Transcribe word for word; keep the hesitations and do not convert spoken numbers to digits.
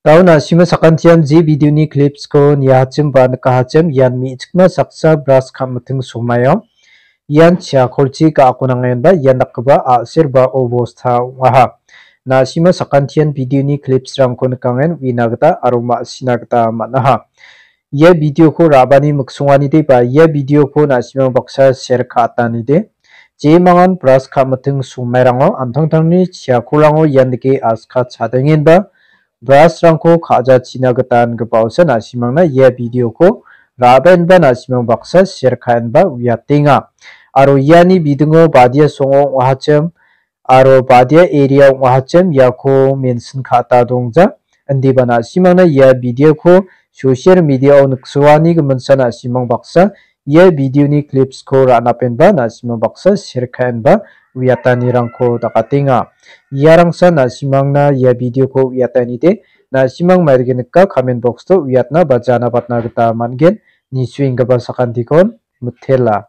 Dao na·sima sakantian je video-ni clips-ko niahachim ba nikahachim, ian me·chikma saksa bras ka·miting somaio. Ian chiakolchi ga·ako nangenba ian dakgipa a·ser ba obosta ong·aha. Na·sima sakantian video-ni clips-rangko nikangen uina gita aro ma·sina gita man·aha. Ia video-ko ra·bani miksonganide ba ia video-ko na·simang baksa share ka·atanide. Jemangan bras ka·miting somairango an·tangtangni chiakorango ian dake aska chadengenba bras-rangko ka·jachina gita ingipaosa na·simangna ia video-ko ra·baenba na·simang baksa share ka·enba uiatenga. Aro iani bidingo badia songo ong·ahachim aro badia area ong·ahachim iako mention ka·ata dongja. Indiba na·simangna ia video-ko social media-o niksoani giminsa na·simang baksa ia video-ni clips-ko ra·napenba na·simang baksa share ka·enba uiatanirangko dakatenga. Iarangsa na·simangna ia video-ko uiatanide, na·simang maidake nika comment box-o uiatna ba jana batna gita man·gen. Nisuenggipa sakantikon mitela.